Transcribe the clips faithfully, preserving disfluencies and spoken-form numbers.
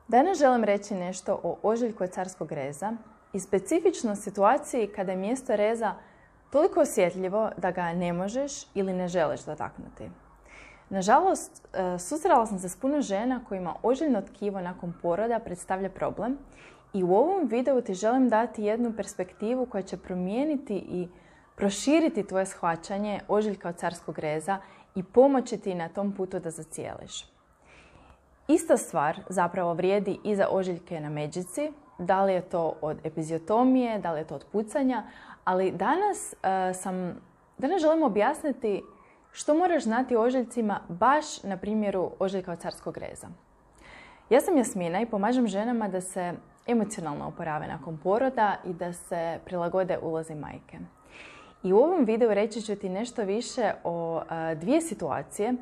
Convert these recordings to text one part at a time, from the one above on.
Danas želim reći nešto o ožiljku od carskog reza i specifično situaciji kada je mjesto reza toliko osjetljivo da ga ne možeš ili ne želiš dotaknuti. Nažalost, susrela sam se s puno žena kojima ožiljno tkivo nakon poroda predstavlja problem i u ovom videu ti želim dati jednu perspektivu koja će promijeniti i proširiti tvoje shvaćanje ožiljka od carskog reza i pomoći ti na tom putu da zacijeliš. Ista stvar zapravo vrijedi i za ožiljke na međici, da li je to od epiziotomije, da li je to od pucanja, ali danas, uh, sam, danas želim objasniti što moraš znati o ožiljcima baš na primjeru ožiljka od carskog reza. Ja sam Jasmina i pomažem ženama da se emocionalno oporave nakon poroda i da se prilagode ulozi majke. I u ovom videu reći ću ti nešto više o uh, dvije situacije,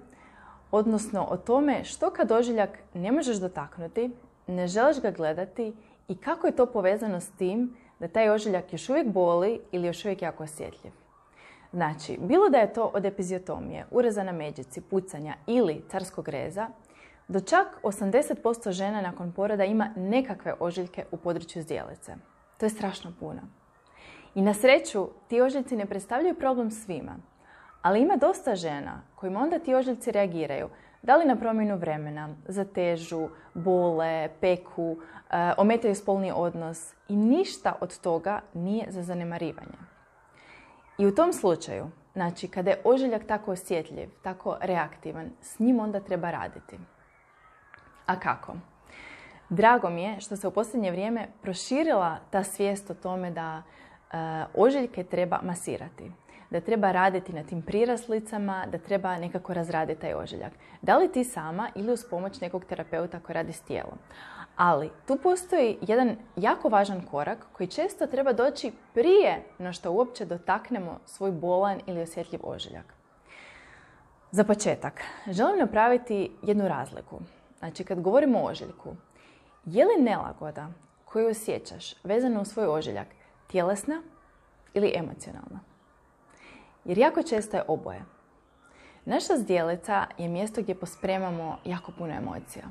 odnosno o tome što kad ožiljak ne možeš dotaknuti, ne želiš ga gledati i kako je to povezano s tim da taj ožiljak još uvijek boli ili još uvijek jako osjetljiv. Znači, bilo da je to od epiziotomije, ureza na međici, pucanja ili carskog reza, do čak osamdeset posto žena nakon poroda ima nekakve ožiljke u području zdjelice. To je strašno puno. I na sreću, ti ožiljci ne predstavljaju problem svima. Ali ima dosta žena kojima onda ti ožiljci reagiraju, da li na promjenu vremena, zatežu, bole, peku, e, ometaju spolni odnos i ništa od toga nije za zanemarivanje. I u tom slučaju, znači kada je ožiljak tako osjetljiv, tako reaktivan, s njim onda treba raditi. A kako? Drago mi je što se u posljednje vrijeme proširila ta svijest o tome da e, ožiljke treba masirati. Da treba raditi na tim priraslicama, da treba nekako razraditi taj ožiljak. Da li ti sama ili uz pomoć nekog terapeuta koji radi s tijelom. Ali tu postoji jedan jako važan korak koji često treba doći prije no što uopće dotaknemo svoj bolan ili osjetljiv ožiljak. Za početak, želim napraviti jednu razliku. Znači, kad govorimo o ožiljku, je li nelagoda koju osjećaš vezano u svoj ožiljak tjelesna ili emocionalna? Jer jako često je oboje. Naša zdjelica je mjesto gdje pospremamo jako puno emocija.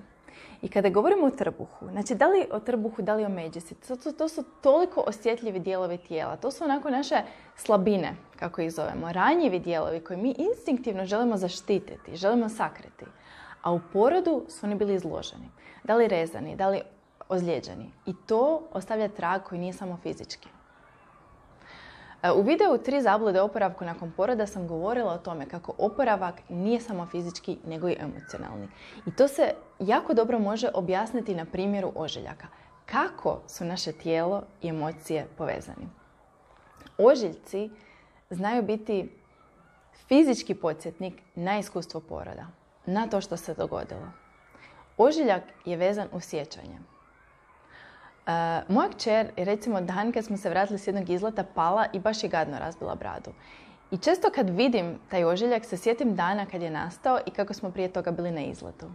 I kada govorimo o trbuhu, znači da li o trbuhu, da li o međici, to, to, to su toliko osjetljivi dijelovi tijela. To su onako naše slabine, kako ih zovemo, ranjivi dijelovi koje mi instinktivno želimo zaštititi, želimo sakriti. A u porodu su oni bili izloženi. Da li rezani, da li ozlijeđeni. I to ostavlja trag koji nije samo fizički. U videu tri zablude o oporavku nakon poroda sam govorila o tome kako oporavak nije samo fizički nego i emocionalni. I to se jako dobro može objasniti na primjeru ožiljaka. Kako su naše tijelo i emocije povezani? Ožiljci znaju biti fizički podsjetnik na iskustvo poroda, na to što se dogodilo. Ožiljak je vezan uz sjećanje. Uh, moja kćer je recimo dan kad smo se vratili s jednog izleta pala i baš je gadno razbila bradu. I često kad vidim taj ožiljak se sjetim dana kad je nastao i kako smo prije toga bili na izletu.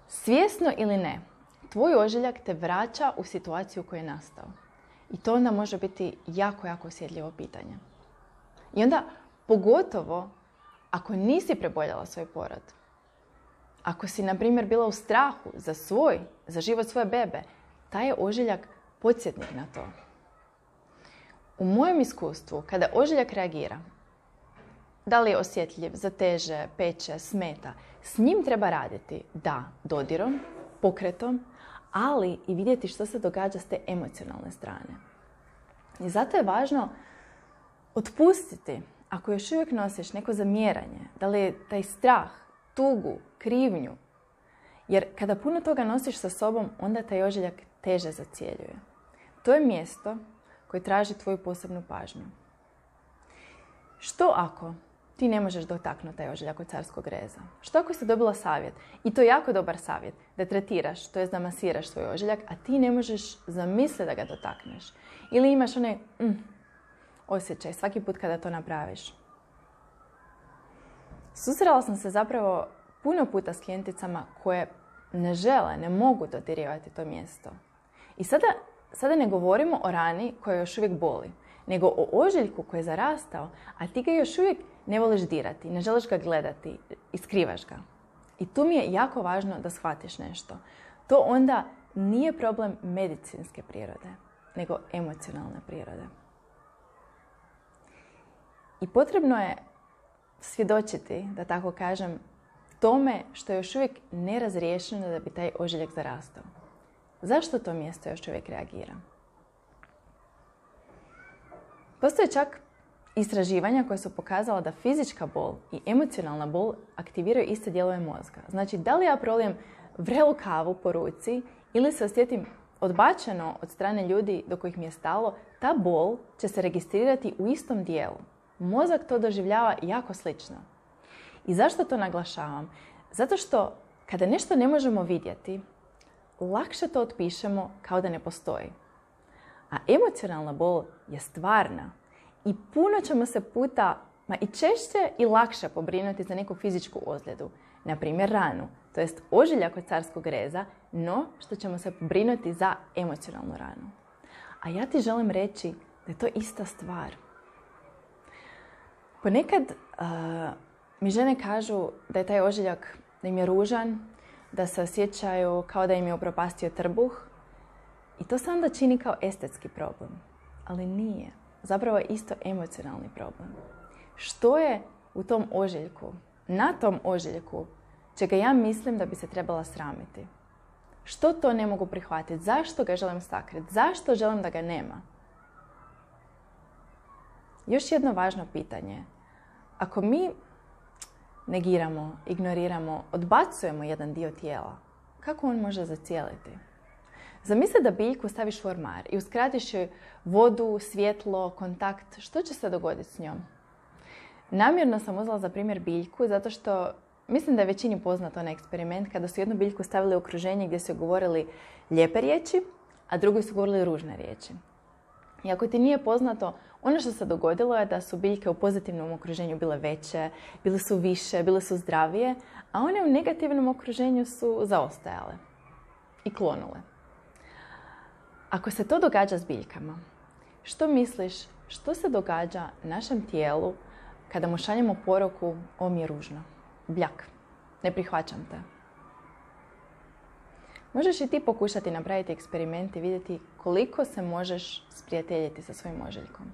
Svjesno ili ne, tvoj ožiljak te vraća u situaciju u kojoj je nastao. I to onda može biti jako, jako osjetljivo pitanje. I onda pogotovo ako nisi preboljela svoj porod. Ako si, na primjer, bila u strahu za svoj, za život svoje bebe, taj je ožiljak podsjetnik na to. U mojem iskustvu, kada ožiljak reagira, da li je osjetljiv, zateže, peče, smeta, s njim treba raditi, da, dodirom, pokretom, ali i vidjeti što se događa s te emocionalne strane. I zato je važno otpustiti, ako još uvijek nosiš neko zamjeranje, da li je taj strah, tugu, krivnju, jer kada puno toga nosiš sa sobom, onda taj ožiljak teže zacjeljuje. To je mjesto koje traži tvoju posebnu pažnju. Što ako ti ne možeš dotaknuti taj ožiljak od carskog reza? Što ako si dobila savjet, i to jako dobar savjet, da tretiraš, to jest da masiraš svoj ožiljak, a ti ne možeš zamisliti da ga dotakneš? Ili imaš onaj mm, osjećaj svaki put kada to napraviš? Susrela sam se zapravo puno puta s klijenticama koje ne žele, ne mogu dodirivati to mjesto. I sada, sada ne govorimo o rani koja još uvijek boli, nego o ožiljku koji je zarastao, a ti ga još uvijek ne voliš dirati, ne želiš ga gledati i skrivaš ga. I tu mi je jako važno da shvatiš nešto. to onda nije problem medicinske prirode, nego emocionalne prirode. I potrebno je svjedočiti, da tako kažem, tome što je još uvijek nerazriješeno da bi taj ožiljak zarastao. Zašto to mjesto još uvijek reagira? Postoje čak istraživanja koja su pokazala da fizička bol i emocionalna bol aktiviraju iste dijelove mozga. Znači, da li ja prolijem vrelu kavu po ruci ili se osjetim odbačeno od strane ljudi do kojih mi je stalo, ta bol će se registrirati u istom dijelu. Mozak to doživljava jako slično. I zašto to naglašavam? Zato što kada nešto ne možemo vidjeti, lakše to otpišemo kao da ne postoji. A emocionalna bol je stvarna i puno ćemo se puta, ma i češće i lakše pobrinuti za neku fizičku ozljedu, na primjer ranu, to jest ožiljak od carskog reza, no što ćemo se pobrinuti za emocionalnu ranu. A ja ti želim reći da je to ista stvar. Ponekad uh, mi žene kažu da je taj ožiljak, da im je ružan, da se osjećaju kao da im je upropastio trbuh i to se onda čini kao estetski problem. Ali nije. Zapravo je isto emocionalni problem. Što je u tom ožiljku, na tom ožiljku, čega ja mislim da bi se trebala sramiti? Što to ne mogu prihvatiti? Zašto ga želim sakriti? Zašto želim da ga nema? Još jedno važno pitanje. Ako mi negiramo, ignoriramo, odbacujemo jedan dio tijela, kako on može zacijeliti? Zamisli da biljku staviš u ormar i uskratiš joj vodu, svjetlo, kontakt. Što će se dogoditi s njom? Namjerno sam uzela za primjer biljku zato što mislim da je većini poznat onaj eksperiment kada su jednu biljku stavili u okruženje gdje su govorili lijepe riječi, a drugoj su govorili ružne riječi. I ako ti nije poznato, ono što se dogodilo je da su biljke u pozitivnom okruženju bile veće, bile su više, bile su zdravije, a one u negativnom okruženju su zaostajale i klonule. Ako se to događa s biljkama, što misliš što se događa našem tijelu kada mu šaljemo poruku ovo mi je ružno, bljak, ne prihvaćam te? Možeš i ti pokušati napraviti eksperiment i vidjeti koliko se možeš sprijateljiti sa svojim ožiljkom.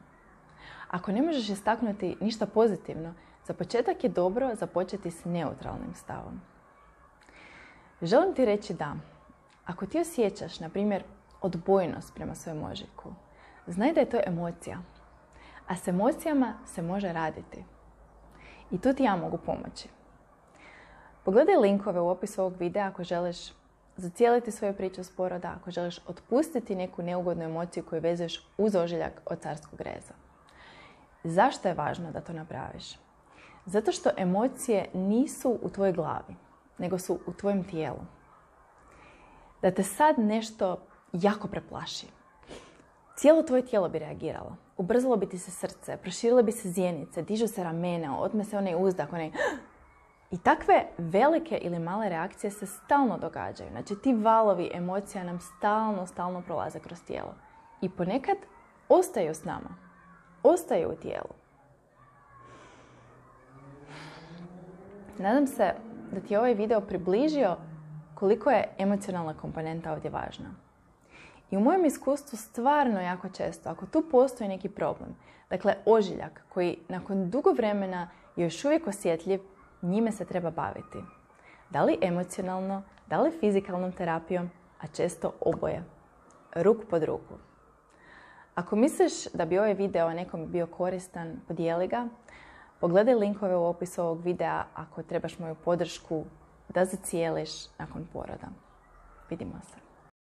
Ako ne možeš istaknuti ništa pozitivno, za početak je dobro započeti s neutralnim stavom. Želim ti reći da, ako ti osjećaš, na primjer, odbojnost prema svojem ožiljku, znaj da je to emocija. A s emocijama se može raditi. I tu ti ja mogu pomoći. Pogledaj linkove u opisu ovog videa ako želiš zacijeliti svoju priču s poroda, ako želiš otpustiti neku neugodnu emociju koju vezuješ uz ožiljak od carskog reza. Zašto je važno da to napraviš? Zato što emocije nisu u tvojoj glavi, nego su u tvojem tijelu. Da te sad nešto jako preplaši. Cijelo tvoje tijelo bi reagiralo. Ubrzalo bi ti se srce, proširile bi se zjenice, dižu se ramena, otme se onaj uzdak, onaj... I takve velike ili male reakcije se stalno događaju. Znači, ti valovi emocija nam stalno, stalno prolaze kroz tijelo. I ponekad ostaju s nama. Ostaju u tijelu. Nadam se da ti je ovaj video približio koliko je emocionalna komponenta ovdje važna. I u mojem iskustvu stvarno jako često, ako tu postoji neki problem, dakle ožiljak koji nakon dugo vremena je još uvijek osjetljiv, njime se treba baviti. Da li emocionalno, da li fizikalnom terapijom, a često oboje. Ruk pod ruku. Ako misliš da bi ovaj video nekom bio koristan, podijeli ga. Pogledaj linkove u opisu ovog videa ako trebaš moju podršku da zacijeliš nakon poroda. Vidimo se.